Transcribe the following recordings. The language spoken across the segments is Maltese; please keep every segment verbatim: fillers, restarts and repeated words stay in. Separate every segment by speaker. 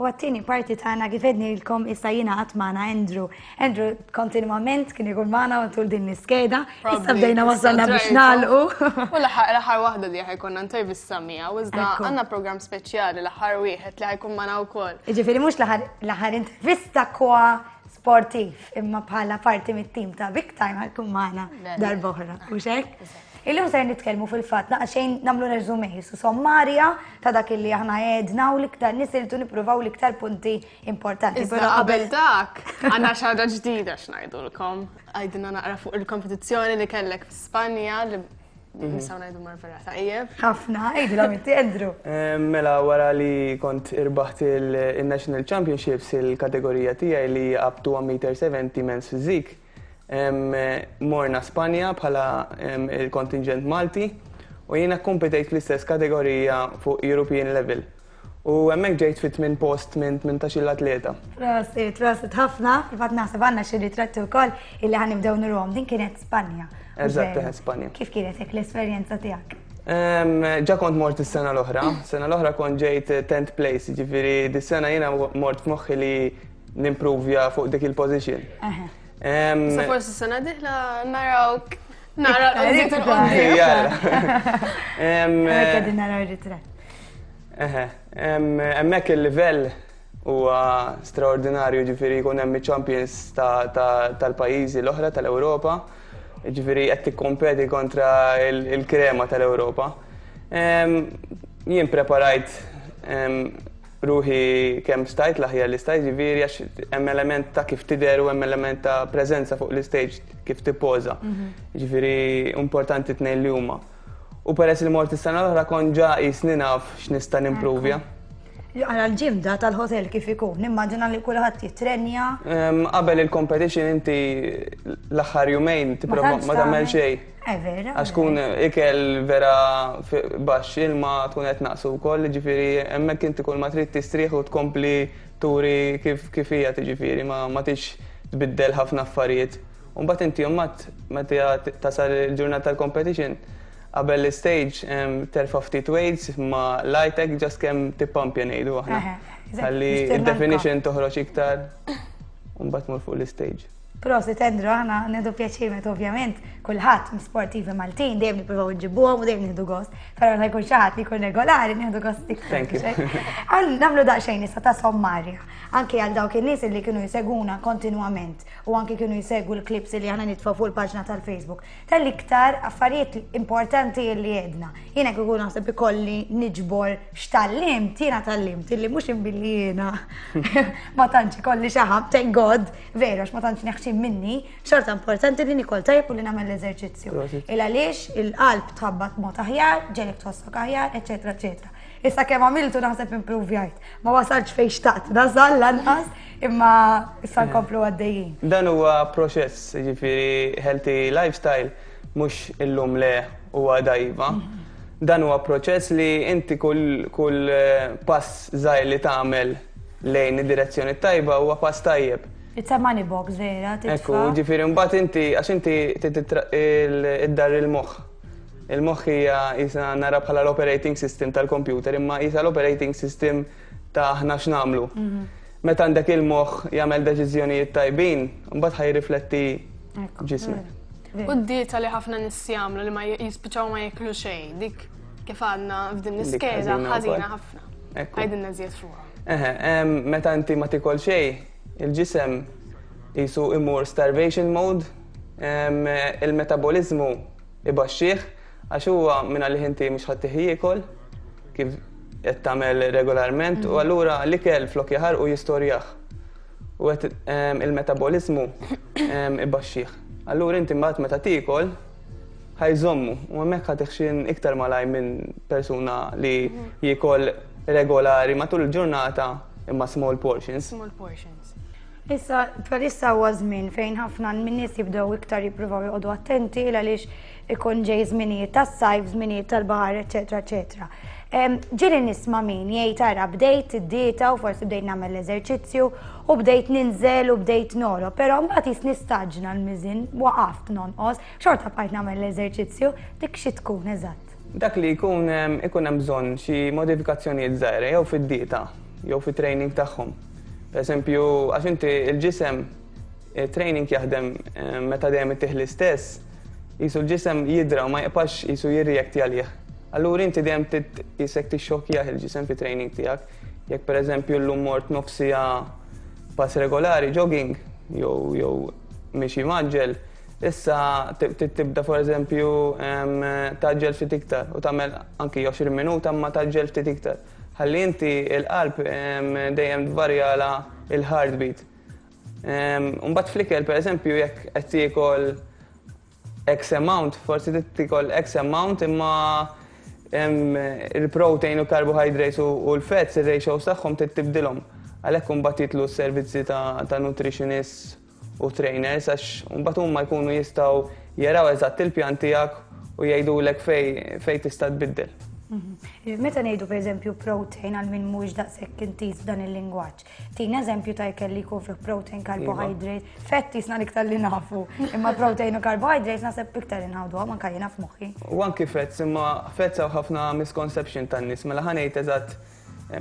Speaker 1: U għat-tieni parti tagħna, kif għednilkom, issa jingħaqad magħna Andrew. Andrew kontinwament kien ikun magħna tul din l-iskeda. Issa bdejna wasalna biex nagħlqu.
Speaker 2: U l-aħħar waħda li ħa jkollna intervista miegħu, iżda għandna programm speċjali, l-aħħar wieħed li ħa jkun magħna wkoll.
Speaker 1: Jiġifieri mhux l-aħħar intervista kwa sportiv, imma bħala parti mit-tim ta' Big Time ħa jkun magħna darb'oħra. U hekk? Illum ser nitkellmu fil-fatt xejn nagħmlu resume su sommarja ta' dak li aħna għedna u l-iktar nisiltu nippruvaw l-iktar punti importanti.
Speaker 2: Però qabel dak, għandna xi ħaġa ġdida x'ngħidulkom. Għidilna naqra fuq il-kompetizzjoni li kellek fi Spanja li nistgħu ngħidu mar vera tajjeb.
Speaker 1: Ħafna, għidilhom inti, Andrew.
Speaker 3: Mela, wara li kont irbaħt il-National Championships, il-kategorija tiegħi li up to one meter seventy men's physique, morna Spanja bħala il-kontingent Malti u jiena kompetejt fl-istess kategorija fuq European level. U hemmhekk ġejt fit tmien post minn tmintax-il atleta.
Speaker 1: Prosit, prosit ħafna, fil-fatt naħseb għandna xi ritratti wkoll illi ħa nibdew nuruhom. Din kienet Spanja.
Speaker 3: Eżatt, Spanja.
Speaker 1: Kif kienet hekk l-esperjenza tiegħek?
Speaker 3: Ġa kont mort is-sena l-oħra. Sena l-oħra kont ġejt tenth place, ġifieri dis-sena jiena mort f'moħħi li nimprovja fuq dik il-position.
Speaker 2: Sa forsi sena dieħla narawk nara l
Speaker 1: Qegħdin naraw ritratt.
Speaker 3: Eħe, hemmhekk il-livell huwa straordinarju, ġifieri jkun hemm champions tal-pajjiżi l-oħra tal-Ewropa, ġifieri qed tikkompeti kontra il-krema tal-Ewropa. Jien preparajt ruħi kemm stajt, l-aħjar li stajt, ġifieri għax hemm element ta' kif tidher u hemm element ta' preżenza fuq l-istage, kif tippoża. Ġifieri importanti tnejn li huma. U peress li mort is-sena l-oħra, kont ġa qisni naf x'nista' nimpruvja.
Speaker 1: Għara l-gym da tal-hotel kif ikun, nimmaġina li kulħadd jitrenja.
Speaker 3: Em, Qabel il-competition inti l-aħħar jumejn tipprova
Speaker 1: tantx
Speaker 3: ma tagħmel
Speaker 1: tagħmel.
Speaker 3: xejn.
Speaker 1: Eh, vera.
Speaker 3: Għax tkun ikel vera fi- baxx, ilma tkun qed naqsu wkoll, ġifieri hemmhekk inti kull ma trid tistrieħ u tkompli turi kif kif hija, ġifieri ma ma tix tbiddel ħafna affarijiet. U mbagħad inti mbagħad meta tasal il-ġurnata tal-competition, qabel l-stage em, terfa' ftit weights ma lightek, just kemm tippampja ngħidu aħna.
Speaker 1: Eħe, eżatt,
Speaker 3: Ħalli
Speaker 1: biex tirranka.
Speaker 3: id-definition toħroġ iktar u mbagħad tmur fuq l-stage.
Speaker 1: Prosit, Andrew, aħna nieħdu pjaċir meta ovvjament kulħadd sportivi Maltin dejjem nippruvaw nġibuhom u dejjem nieħdu gost. Però meta jkun xi ħadd li jkun regolari, nieħdu gost iktar.
Speaker 3: Thank you.
Speaker 1: Għal nagħmlu daqsxejn issa ta' sommarja. Anke għal dawk in-nies li kienu jseguna kontinwament u anke kienu jsegwu l-clips li aħna nitfgħu fuq il-paġna tal-Facebook. Tal-iktar affarijiet importanti li għedna. Jiena kieku naħseb ikolli niġbor x'tgħallimt, jiena tgħallimt illi mhux imbilli jiena ma tantx ikolli xaħam, thank God, veru, għax ma tantx neħxin minni, xorta importanti li nikol tajjeb u li nagħmel l-eżerċizzju.
Speaker 3: Prosit.
Speaker 1: Il għaliex il-qalb tħabbat mod aħjar, ġelek tħossok aħjar, eċetera, eċetera. Issa kemm għamiltu naħseb improvjajt. Ma wasalx fejn xtaqt, nasal lanqas, imma issa nkomplu għaddejjin.
Speaker 3: Dan huwa proċess, ġifieri healthy lifestyle mhux illum le huwa dajva. Dan huwa proċess li inti kull, kull eh, pass żgħir li tagħmel lejn id-direzzjoni tajba huwa pass tajjeb.
Speaker 1: It's a money box, vera,
Speaker 3: Ekku,
Speaker 1: titfa.
Speaker 3: ġifieri mbagħad inti għax inti titra- il- id-dar il-moħħ. Il-moħħ hija jisa nara bħala l-operating system tal-computer, imma jisa l-operating system ta' aħna x'nagħmlu. Meta għandek il-moħħ jagħmel deċiżjonijiet tajbin, mbagħad ħa jirrifletti
Speaker 1: Ekku,
Speaker 3: ġismek.
Speaker 1: vera.
Speaker 2: U d-dieta li ħafna nies jagħmlu li ma jispiċċaw ma jiklu xejn, dik kif għadna f'din
Speaker 3: Dik
Speaker 2: l-iskeda
Speaker 3: ħażina
Speaker 2: ħażina
Speaker 3: wkoll.
Speaker 2: ħafna.
Speaker 3: Ekku.
Speaker 2: Għidilna żjed fuqha.
Speaker 3: Eħe, em, meta inti ma tikol xejn, il-ġisem jisu imur starvation mode, em, il-metabolizmu ibaxxih, għax huwa minn għalih inti mhux ħadd jiekol kif qed tagħmel regolarment u allura l-ikel flok jaħarqu jistorjah. U qed em, il-metabolizmu em, ibaxxih. Allura inti mbagħad meta tiekol ħa jżommu u hemmhekk ħa tiħxin iktar malaj minn persuna li jiekol regolari matul il-ġurnata imma small portions.
Speaker 2: Small portions.
Speaker 1: Issa, bħalissa huwa żmien fejn ħafna min-nies jibdew iktar jippruvaw joqogħdu attenti għaliex ikun ġej żminijiet tas-sajf, żminijiet tal-baħar, eċetera, eċetera. Em, Ġieli nisma' min jgħid, "Ara, bdejt id-dieta u forsi bdejt nagħmel l-eżerċizzju u bdejt ninżel u bdejt noro, però mbagħad jis nistaġna l-miżin, waqaft nonqos, xorta bqajt nagħmel l-eżerċizzju." Dik xi tkun eżatt?
Speaker 3: Dak li jkun em, ikun hemm bżonn xi modifikazzjonijiet żgħira jew fid-dieta. jew fit-training tagħhom. Per eżempju, għax inti il-ġisem training jaħdem eh, meta dejjem ittih l-istess, qisu l-ġisem jidra u ma jibqax qisu jirreakti għalih. Allura inti dejjem qisek tixxokkjah il-ġisem fit-training tiegħek. Jekk per eżempju llum mort nofs siegħa pass regolari, jogging, jew jew mixi mgħaġġel, issa tibda for eżempju tgħaġġel ftit iktar u tagħmel anki għoxrin minuta ma tgħaġġel ftit iktar. Ħalli inti il-qalb dejjem tvarjala il-heartbeat. Mbagħad fl-ikel per eżempju jekk qed tiekol X amount, forsi tiekol X amount imma il-protein u carbohydrates u l-fats, il-ratios tagħhom tibdilhom. Għalhekk imbagħad jidħlu s-servizzi ta' nutritionists u trainers għax mbagħad huma jkunu jistgħu jaraw eżatt il-pjan tiegħek u jgħidulek fej fej tista' tbiddel.
Speaker 1: Mhm. Meta ngħidu pereżempju protein għal min mhuwiex daqshekk intiż f'dan il-lingwaġġ. Tina eżempju ta' ikel li jkun fih protein, carbohydrate, fett jisna l-iktar li nafu, imma protein u carbohydrates naħseb iktar inħawdu anke jiena f'moħħi.
Speaker 3: U anki fats, imma fats hawn ħafna misconception tan-nies, mela ħa ngħid eżatt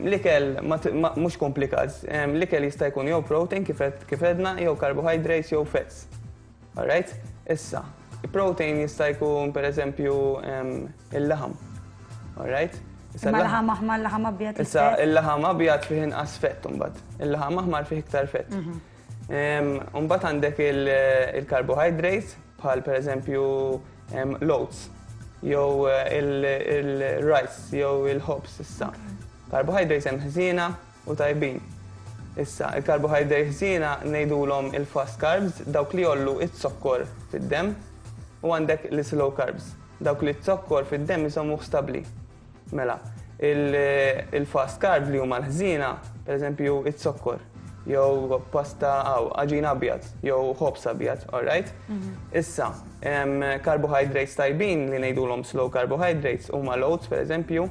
Speaker 3: l-ikel mhux komplikat, l-ikel jista' jkun jew protein kif għedna, jew carbohydrates jew fats. Alright? Issa, protein jista' jkun pereżempju il-laħam. Alright?
Speaker 1: Issa l-laħam aħmar, l-laħam abjad.
Speaker 3: Issa il-laħam abjad fih inqas fett imbagħad. Il-laħam aħmar fih iktar fett. Imbagħad għandek il-carbohydrates bħal pereżempju l-oats jew il-rice jew il-ħobż issa. Carbohydrates hemm ħżiena u tajbin. Issa, il-carbohydrates ħżiena ngħidulhom il-fast carbs, dawk li jgħollu iz-zokkor fid-demm, u għandek l-slow carbs, dawk li z-zokkor fid-demm iżommuh stabbli. Mela, il-fast carbs li huma l-ħżiena, pereżempju iz-zokkor, jew pasta għaw, għaġin abjad, jew ħobż abjad, all right? Issa, carbohydrates tajbin li ngħidulhom slow carbohydrates huma l-oats, pereżempju,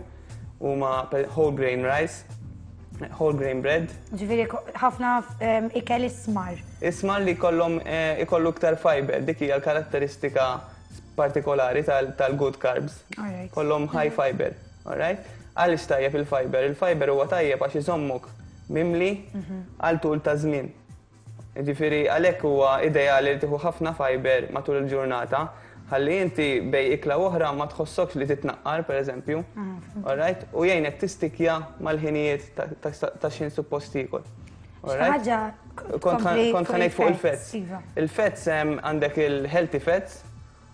Speaker 3: huma whole grain rice, whole grain bread.
Speaker 1: Ġifieri ħafna ikel ismar.
Speaker 3: Ismar li kollhom ikollu iktar fiber, dik hija l-karatteristika partikolari tal-good carbs. Kollhom high fiber, all right? Għaliex tajjeb il-fiber? Il-fiber huwa tajjeb għax iżommok mimli għal tul ta' żmien. Ġifieri għalhekk huwa ideali li tieħu ħafna fiber matul il-ġurnata, ħalli inti bej ikla oħra ma tħossokx li titnaqqar, pereżempju. All right? U jgħinek tistikja mal-ħinijiet ta' x'in suppost tiekol.
Speaker 1: Ħaġa
Speaker 3: Kont ħa ngħid fuq il-fats. Il-fats għandek il-healthy fats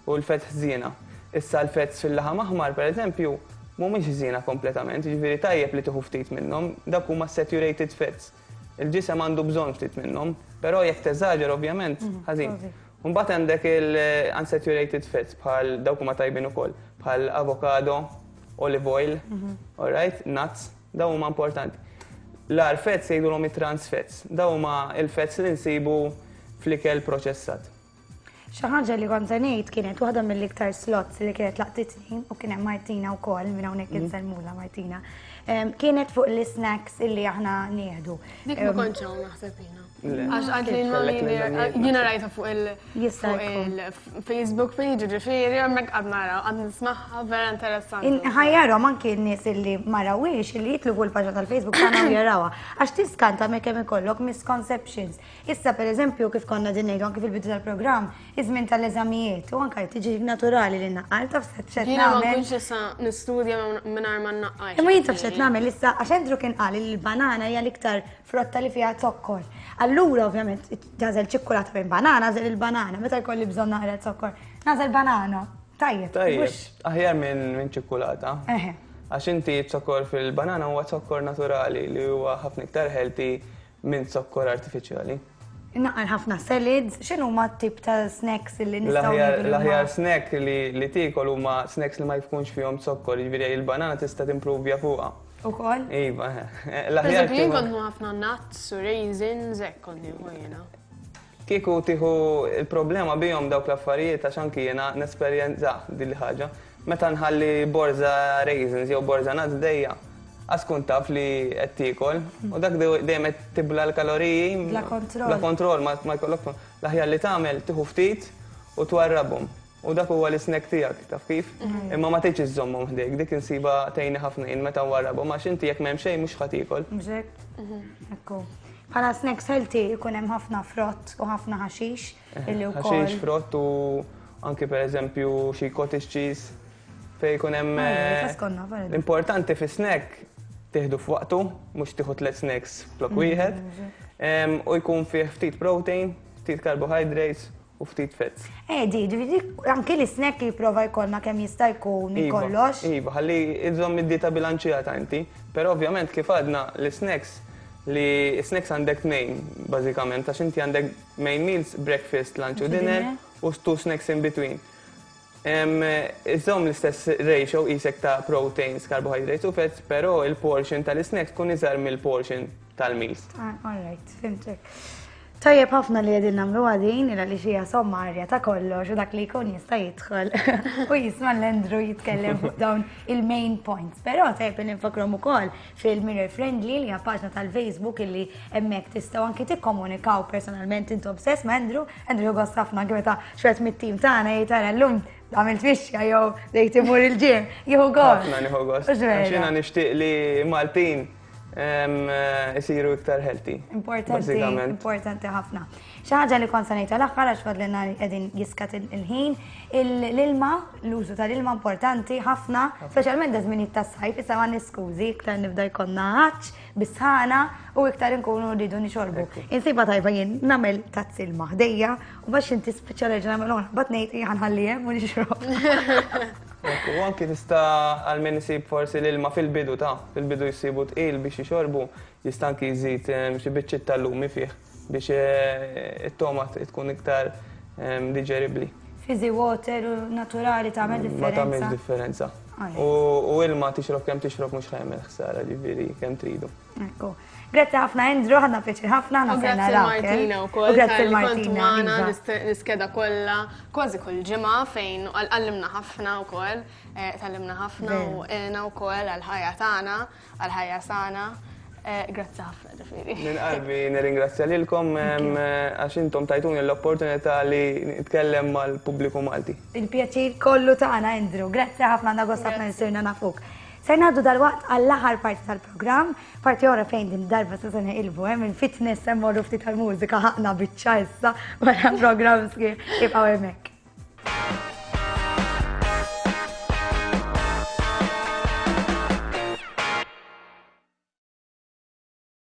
Speaker 3: u l-fats ħżiena. Issa l-fats fil-laħam aħmar, pereżempju, mhumiex ħżiena kompletament, ġifieri tajjeb li tieħu ftit minnhom, dak huma saturated fats. Il-ġisem għandu bżonn ftit minnhom, però jekk teżaġer ovvjament ħażin. Mbagħad għandek il-unsaturated fats bħal dawk huma tajbin ukoll, bħal avocado, olive oil, all right, nuts, dawn huma importanti. L-agħar fats jgħidulhom it-trans fats, dawn huma il-fats li nsibu fl-ikel proċessat.
Speaker 1: Xi ħaġa li kont se ngħid kienet waħda mill-iktar slots li kienet laqtitni u kien hemm Martina wkoll minn hawnhekk insellmula Martina. Kienet fuq l-snacks illi aħna nieħdu.
Speaker 2: Dik ma kontx hawn naħseb jiena. Għax għad li jiena rajta fuq il-Facebook page, ġifieri, hemmhekk qed nara, qed nismagħha vera interessanti.
Speaker 1: Ħajjarhom anki n-nies illi ma rawhiex illi jitlu fuq il-paġna tal-Facebook tagħna u jarawha. Għax tiskanta me kemm ikollok misconceptions. Issa pereżempju kif konna din ngħidu anki fil-bidu tal-programm, iż-żmien tal-eżamijiet u anke tiġi naturali li naqqal taf se x'qed
Speaker 2: Jiena ma
Speaker 1: nagħmel.
Speaker 2: nkunx issa nistudja mingħajr ma nnaqqal.
Speaker 1: Imma jien taf x'qed nagħmel issa għax Andrew kien qal li l-banana hija l-iktar frotta li fiha zokkor. Allura ovvjament tagħżel ċikkulata minn banana, għażel il-banana, meta jkolli bżonn naqra zokkor, nagħżel banana. Tajjeb.
Speaker 3: Tajjeb, aħjar minn ċikkulata.
Speaker 1: Eħe.
Speaker 3: Għax inti zokkor fil-banana huwa zokkor naturali li huwa ħafna iktar healthy minn zokkor artifiċjali.
Speaker 1: Naqqar ħafna salads, x'inhu ma tip ta' snacks li nistgħu
Speaker 3: L-aħjar
Speaker 1: nieħdu li huma-
Speaker 3: l-aħjar snack li, li tiekol huma snacks li ma jkunx fihom zokkor, jiġifieri il-banana tista' timprovja fuqha.
Speaker 1: Ukoll?
Speaker 3: Iva, eh.
Speaker 2: Per
Speaker 3: L-aħjar
Speaker 2: eżempju, jien
Speaker 3: tieħu-
Speaker 2: kont nieħu ħafna nuts u raisins, hekk kont nieħu jiena.
Speaker 3: Kieku tieħu il-problema bihom dawk l-affarijiet għax anki jiena nesperjenza din il-ħaġa. Meta nħalli borza raisins jew borza nuts dejja, għax kun taf li qed tiekol u dak dejjem qed tibla l-kaloriji.
Speaker 1: Bla kontroll.
Speaker 3: Bla kontroll, ma ma jkollok l-aħjar li tagħmel tieħu ftit u twarrabhom. U dak huwa l-snack tiegħek, taf kif? Imma ma tgħidx iżżommhom ħdejk, dik insiba tgħinni ħafna jien meta nwarrabhom għax inti jekk m'hemm xejn mhux ħa tiekol.
Speaker 1: Mhux hekk? Ekku. Bħala snacks healthy ikun hemm ħafna frott u ħafna ħaxix illi wkoll.
Speaker 3: Ħaxix, frott u anki per eżempju xi cottage cheese fejn jkun hemm
Speaker 1: Ah,
Speaker 3: eh,
Speaker 1: taskonna, vera.
Speaker 3: L-importanti fi snack tieħdu f'waqtu, mhux tieħu tliet snacks flok wieħed. Em, U jkun fih ftit protein, ftit carbohydrates u ftit fats.
Speaker 1: Eh, di, ġifieri anki l-snack li jipprova jkollna kemm jista' jkun
Speaker 3: Iva,
Speaker 1: kollox.
Speaker 3: Iva, ħalli iżomm id-dieta bilanċjata inti, però ovvjament kif għadna l-snacks li snacks għandek tnejn bażikament għax inti għandek main meals, breakfast, lunch u dinner
Speaker 1: dinner.
Speaker 3: u two snacks in between. Em, Iżomm l-istess ratio isek ta' proteins, carbohydrates u fats, però il-portion tal-snacks tkun iżgħar mill-portion tal-meals.
Speaker 1: Ah, all right, fhimtek. Tajjeb ħafna li qegħdin nagħmlu għadin, illa li xija sommarja ta' kollox u dak li jkun jista' jidħol u jisma' l-Andrew jitkellem fuq dawn il-main points. Però tajjeb li nfakrom ukoll fil-Mirror Friendly li hija paġna tal-Facebook illi hemmhekk tistgħu anki tikkomunikaw personalment intom stess ma' Andrew. Andrew gost ħafna anke meta xwet mit-tim tagħna jgħid tara llum għamilt mixja jew dejt imur il-gym, jieħu gost.
Speaker 3: Ħafna nieħu gost.
Speaker 1: Mhux vera?
Speaker 3: Għax jiena nixtieq li Maltin em, isiru iktar healthy.
Speaker 1: Importanti,
Speaker 3: Bażikament.
Speaker 1: importanti ħafna. Xi ħaġa li kont se ngħid tal-aħħar għax fadlilna li qegħdin jiskat il- il-ħin, il- l-ilma, l-użu tal-ilma importanti ħafna, speċjalment daż-żminijiet tas-sajf, issa ma niskużi, iktar nibda jkollna għatx, bis-sħana u iktar inkunu rridu nixorbu. Insiba tajba jien nagħmel tazz ilma ħdejja u biex inti spiċċa reġa' nagħmel oħra, bat ngħid ħa nħalli hemm u nixrob.
Speaker 3: Ekku, U anki tista' għal min isib forsi l-ilma fil-bidu ta' fil-bidu jsibu tqil biex jixorbu, jista' anki jżid em, xi biċċiet tal-lumi fih biex eh, it-toma tkun iktar em, digeribli.
Speaker 1: Fizzy water u naturali tagħmel
Speaker 3: Ma tagħmilx
Speaker 1: differenza.
Speaker 3: differenza.
Speaker 1: Alright.
Speaker 3: U u ilma tixrob kemm tixrob mhux ħa jagħmel ħsara ġifieri kemm tridu.
Speaker 1: Ekku. Grazzi ħafna Andrew, ħadna pjaċir ħafna,
Speaker 2: U
Speaker 1: ħna
Speaker 2: grazzi Martina u
Speaker 1: U
Speaker 2: koll,
Speaker 1: grazzi
Speaker 2: tal-li kontu
Speaker 1: Martina.
Speaker 2: magħna
Speaker 1: Iva.
Speaker 2: l-iskeda kollha, kważi kull ġimgħa fejn għallimna ħafna wkoll, eh, tgħallimna ħafna u għena wkoll għal-ħajja tagħna, għal-ħajja sana. Eh, Grazzi ħafna ġifieri.
Speaker 3: Minn qalbi nirringrazzja lilkom em, għax intom tajtuni l-opportunità li nitkellem mal-pubbliku Malti.
Speaker 1: Il-pjaċir kollu tagħna Andrew. Grazzi ħafna għandna gost ħafna li sirna nafuk. Se ngħaddu dal-waqt għall-aħħar parti tal-programm, parti oħra fejn din darba se se neqilbu hemm il-fitness hemm morru ftit tal-mużika ħaqna biċċa issa wara programm sħiħ ibqgħu hemmhekk.